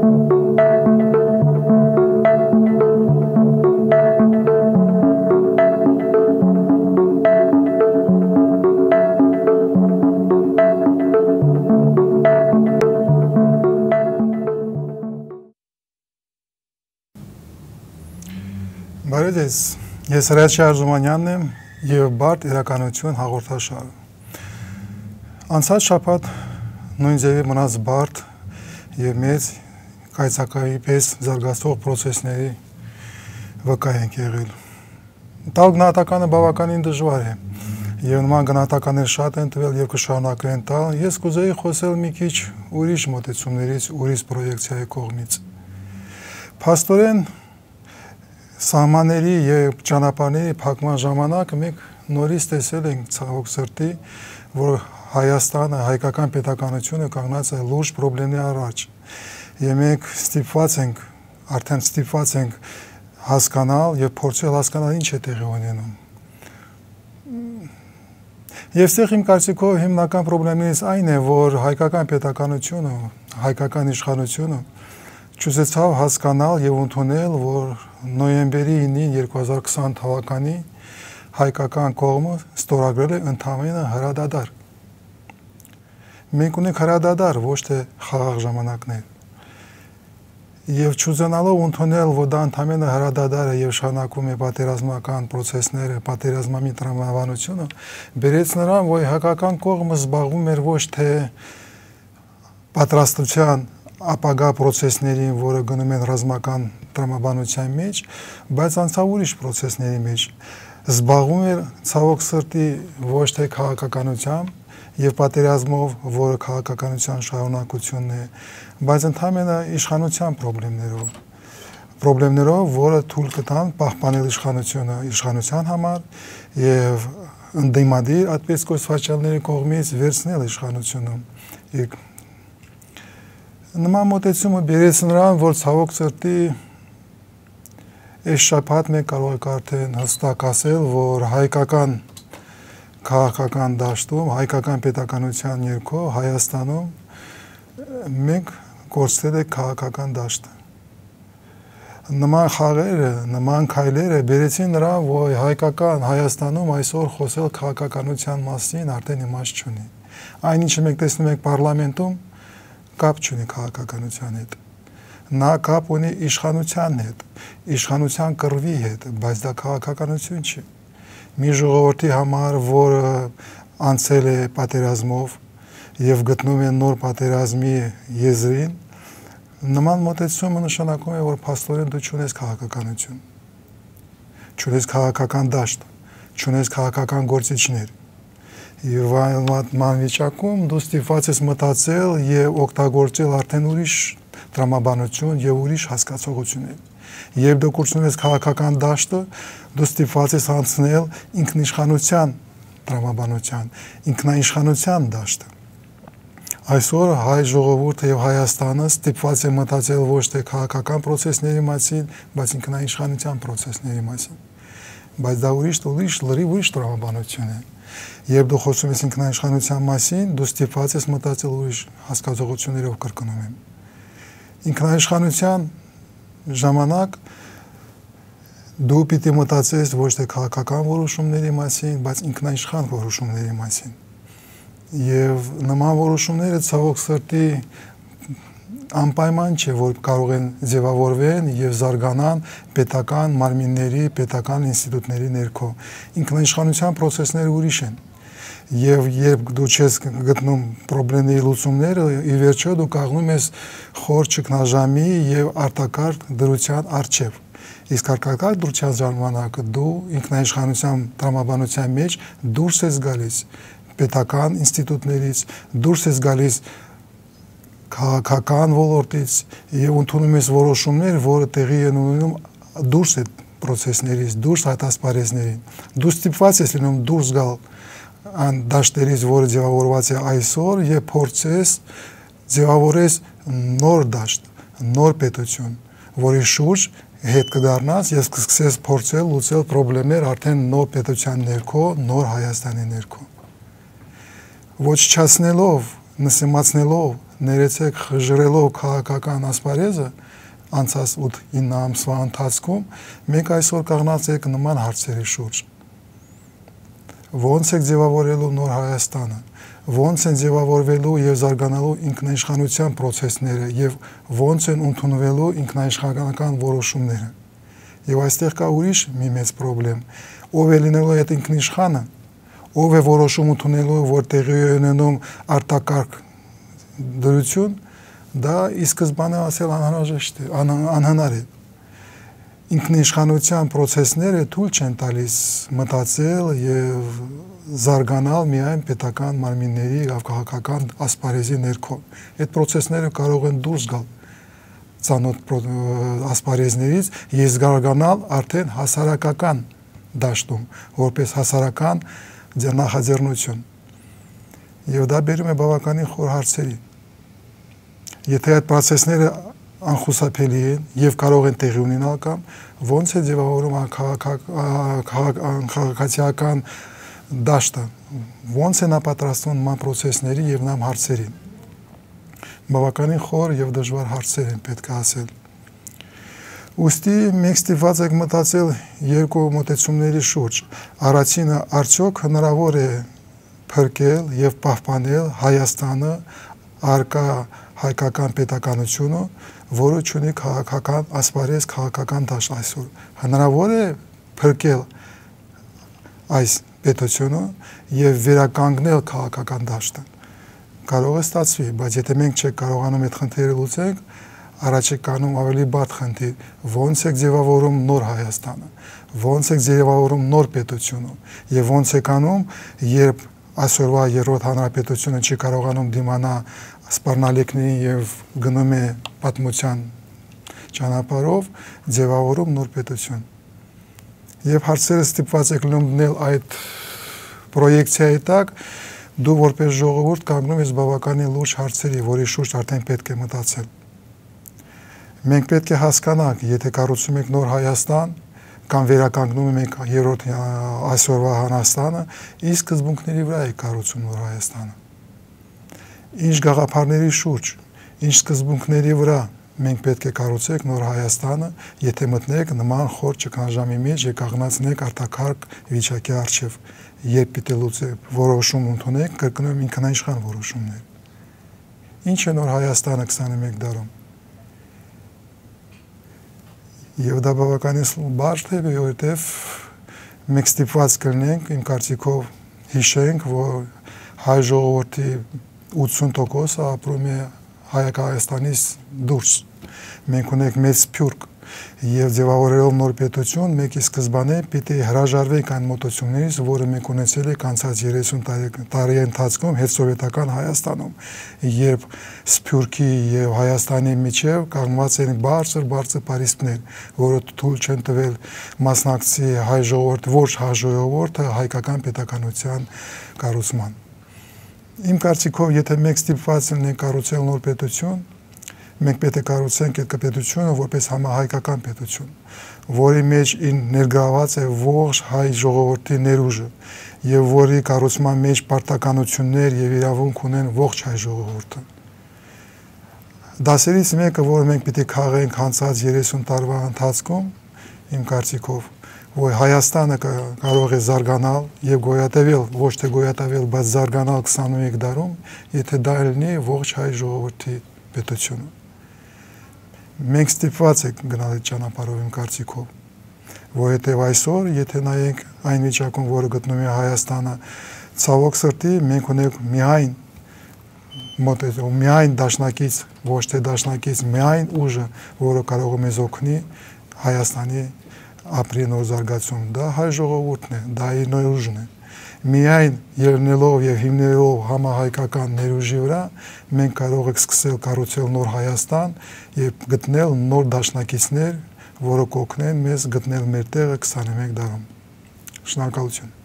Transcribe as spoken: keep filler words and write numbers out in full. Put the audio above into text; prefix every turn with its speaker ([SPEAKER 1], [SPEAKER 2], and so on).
[SPEAKER 1] Բարև, ես Հրաչյա Արզումանյանն եմ և բարդ իրականություն հաղորդաշարը։ Անցած շաբաթ նույն ձևի մնաց բարդ և մեծ կայծակայի պես զարգացող պրոցեսների վկա ենք եղել։ Տալ գնահատականը բավականին դժվար է և նման գնահատականներ շատ են տվել և կշարունակվեն տալ, ես կուզեի խոսել մի քիչ ուրիշ մոտեցումներից, ուրիշ պրոյեկցիայի կողմից։ Փաստորեն սահմանների և ճանապարհների փակման ժամանակ մենք նորից տեսել ենք ցավոք սրտի, որ Հայաստանը, հայկական պետականությունը կանգնած է լուրջ խնդիրների առաջ։ Եվ մենք ստիպված ենք, արդեն ստիպված ենք հասկանալ և փորձել հասկանալ ինչ է տեղի ունենում։ Եվ ստեղ իմ կարծիքով հիմնական խնդիրներից այն է, որ հայկական պետականությունը, հայկական իշխանությունը չուզեցավ հասկանալ և ընդունել, որ նոյեմբերի ինին երկու հազար քսան թվականի հայկական կողմը ստորագրել է ընդամենը հրադադար։ Մենք ունենք հրադադար, ոչ թե խաղաղ ժամանակներ։ Եվ չուզենալով ընդունել, որ դա ընդամենը հրադադար է և շարունակում է պատերազմական պրոցեսները, պատերազմի տրամաբանությունը, բերեց նրան, որ հայկական կողմը զբաղվում էր ոչ թե պատրաստության ապագա պրոցեսներին, որը գնում են ռազմական տրամաբանության մեջ, բայց անցավ ուրիշ պրոցեսների մեջ, զբաղվում էր ցավոք սրտի ոչ թե քաղաքականությամբ և պատերազմով, որը քաղաքականության շարունակությունն է, բայց ընդամենը իշխանության խնդիրներով, խնդիրներով, որը թույլ կտան պահպանել իշխանությունը իշխանության համար և ընդդիմադիր այդպես կոչվածների կողմից վերցնել իշխանությունը։ Նման մոտեցումը բերեց նրան, որ ցավոք սրտի այս շաբաթ մենք կարող ենք արդեն հստակ ասել, որ հայկական քաղաքական դաշտում, հայկական պետականության ներքո Հայաստանում մենք կորցրել ենք քաղաքական դաշտը։ Նման խաղերը, նման քայլերը բերեցին նրան, որ հայկական Հայաստանում այսօր խոսել քաղաքականության մասին արդեն իմաստ չունի։ Այն ինչը մենք տեսնում ենք պարլամենտում, կապ չունի քաղաքականության հետ։ Նա կապ ունի իշխանության հետ, իշխանության կռվի հետ, բայց դա քաղաքականություն չի։ Մի ժողովրդի համար, որը անցել է պատերազմով և գտնում է նոր պատերազմի եզրին, նման մոտեցումը նշանակում է, որ փաստորեն դու չունես քաղաքականություն, չունես քաղաքական դաշտ, չունես քաղաքական գործիչներ։ Եվ այն վիճակում դու ստիպված ես մտածել և օգտագործել արդեն ուրիշ տրամաբանություն և ուրիշ հասկացողություններ։ Երբ դու կորցնում ես քաղաքական դաշտը, դու ստիպված ես անցնել ինքնիշխանության տրամաբանության, ինքնաիշխանության դաշտը։ Այսօր հայ ժողովուրդը և Հայաստանը ստիպված է մտածել ոչ թե քաղաքական պրոցեսների մասին, բայց ինքնաիշխանության պրոցեսների մասին։ Բայց դա ուրիշ ուրիշ լրիվ ուրիշ տրամաբանություն է։ Երբ դու խոսում ես ինքնաիշխանության մասին, դու ստիպված ես մտածել ուրիշ հասկացողություններով կրկնում եմ։ Ինքնաիշխանության ժամանակ դու պիտի մտածես ոչ թե քաղաքական որոշումների մասին, բայց ինքնաիշխան որոշումների մասին։ Եվ նման որոշումները ցավոք սրտի անպայման չէ, որ կարող են ձևավորվեն և զարգանան պետական մարմինների, պետական ինստիտուտների ներքո։ Ինքնաիշխանության պրոցեսները ուրիշ են։ Եվ երբ դու չես գտնում խնդիրների լուծումները, ի վերջո դու կանգնում ես խոր ճգնաժամի և արտակարգ դրության առջև։ Իսկ արտակարգ դրության ժամանակ դու ինքնաիշխանության տրամաբանության մեջ դուրս ես գալիս պետական ինստիտուտներից, դուրս ես գալիս քաղաքական ոլորտից և ընդունում ես որոշումներ, որը տեղի են ունենում դուրս այդ պրոցեսներից, դուրս այդ ասպարեզներին։ Դու ստիպված ես լինում դուրս գալ այն դաշտերից, որը ձևավորված է այսօր, և փորձես ձևավորես նոր դաշտ, նոր պետություն, որի շուրջ հետ կդառնաս և կսկսես փորձել լուծել խնդիրներ արդեն նոր պետության ներքո, նոր Հայաստանի ներքո։ Ոչնչացնելով, նսեմացնելով, ներեցեք խժռելով քաղաքական ասպարեզը անցած ութ-ինը ամսվա ընթացքում մենք այսօր կանգնած ենք նման հարցերի շուրջ։ Ոնց եք ձևավորելու նոր Հայաստանը, ոնց են ձևավորվելու եւ զարգանալու ինքնաիշխանության process-ները եւ ոնց են ընդունվելու ինքնաիշխանական որոշումները։ Եվ այստեղ կա ուրիշ մի մեծ խնդրեմ, ով է լինելու այդ ինքնիշխանը, ով է որոշում ընդունելու, որ տեղի է ունենում արտակարգ դրություն, դա ի սկզբանե ասել անհրաժեշտ է, անհնար է։ Ինքնիշխանության process-ները թույլ չեն տալիս մտածել եւ զարգանալ միայն պետական մարմինների եւ քաղաքական ասպարեզի ներքո։ Այդ process-ները կարող են դուրս գալ ցանոթ ասպարեզներից եւ զարգանալ արդեն հասարակական դաշտում, որպես հասարակական նախաձեռնություն։ Եվ դա բերում է բավականին խոր հարցերի։ Եթե այդ process-ները անխուսափելի են եւ կարող են տեղի ունենալ կամ ոնց է ձևավորում քաղաքացիական դաշտը, ոնց են պատրաստվում նման process-ների եւ նման հարցերին։ Բավականին խոր եւ դժվար հարցեր են պետք է ասել։ Ուստի մենք ստիպված ենք մտածել երկու մոտեցումների շուրջ։ Առաջինը, արդյոք հնարավոր է փրկել եւ պահպանել Հայաստանը արկա հայկական պետականությունը, որը ունի քաղաքական ասպարեզ, քաղաքական դաշտ այսօր։ Հնարավոր է փրկել այս պետությունը եւ վերականգնել քաղաքական դաշտը։ Կարող է ստացվի, բայց եթե մենք չենք կարողանում այդ խնդիրը լուծենք, առաջ է կանում ավելի բարդ խնդիր, ոնց է ձևավորում նոր Հայաստանը, ոնց է ձևավորում նոր պետությունը եւ ոնց է կանում, երբ այսօրվա երրորդ հանրապետությունը չի կարողանում դիմանալ սպառնալիքներին եւ գնում է պատմության ճանապարհով, ձևավորում նոր պետություն։ Եվ հարցերը ստիպված եք լինել այդ պրոյեկցիայի տակ, դու որպես ժողովուրդ կանգնում ես բավականին լուրջ հարցերի, որի շուրջ արդեն պետք է մտածել։ Մենք պետք է հասկանանք, եթե կառուցում ենք նոր Հայաստան կամ վերականգնում ենք երրորդ այսօրվա Հայաստանը, ինչ սկզբունքների վրա է կառուցում նոր Հայաստանը։ Ինչ գաղափարների շուրջ, ինչ սկզբունքների վրա մենք պետք է կառուցենք նոր Հայաստանը, եթե մտնենք նման խոր ճգնաժամի մեջ եւ կանգնացնենք արտակարգ վիճակի առջեւ, երբ պիտի լուծենք որոշում ընդունենք, կրկնում ինքնաիշխան որոշումներ։ Ինչ է նոր Հայաստանը քսաներկու դարում։ Եվ դա բավականին բարդ է, որովհետև մենք ստիպված կլինենք, իմ կարծիքով հիշենք, որ հայ ժողովրդի ութսուն տոկոսը ապրում է Հայաստանից դուրս։ Մենք ունենք մեծ սփյուռք եւ ձևավորելով նոր պետություն, մենք ի սկզբանե պիտի հրաժարվենք այն մոտեցումներից, որը մենք ունեցել ենք անցած երեսուն տարի ընթացքում հետսովետական Հայաստանում, երբ սփյուռքի եւ Հայաստանի միջեւ կանգնած են բարձր-բարձր պարիսպներ, որը թույլ չեն տվել մասնակցի հայ ժողովուրդ, ոչ հայ ժողովուրդը հայկական պետականության կառուցման։ Իմ կարծիքով, եթե մենք ստիպված ենք կառուցել նոր պետություն, մենք պետք է կառուցենք այդ պետությունը որպես համահայկական պետություն, որի մեջ ներգրաված է ողջ հայ ժողովրդի ներուժը եւ որի կառուցման մեջ պարտականություններ եւ իրավունք ունեն ողջ հայ ժողովուրդը։ Դասերից մեկը, որ մենք պիտի քաղենք անցած երեսուն տարվա ընթացքում, իմ կարծիքով, որ Հայաստանը կարող է զարգանալ եւ գոյատևել, ոչ թե գոյատևել, բայց զարգանալ քսաներկու դարում, եթե դա լինի ողջ հայ ժողովրդի պետությունը։ Մենք ստիպված ենք գնալ այդ ճանապարհով իմ կարծիքով, որովհետեւ այսօր, եթե նայենք այն վիճակում, որը գտնում է Հայաստանը, ցավոք սրտի մենք ունենք միայն մոտեցում, միայն դաշնակից, ոչ թե դաշնակից, միայն ուժը, որը կարող է մեզ օգնի Հայաստանի ապրի նոր զարգացում, դա հայ ժողովուրդն է, դա իր ներուժն է։ Միայն ելնելով եւ հիմնելով համահայկական ներուժի վրա, մենք կարող ենք սկսել կառուցել նոր Հայաստան եւ գտնել նոր դաշնակիցներ, որոնք կօգնեն մեզ գտնել մեր տեղը քսաներկու դարում։ Շնորհակալություն։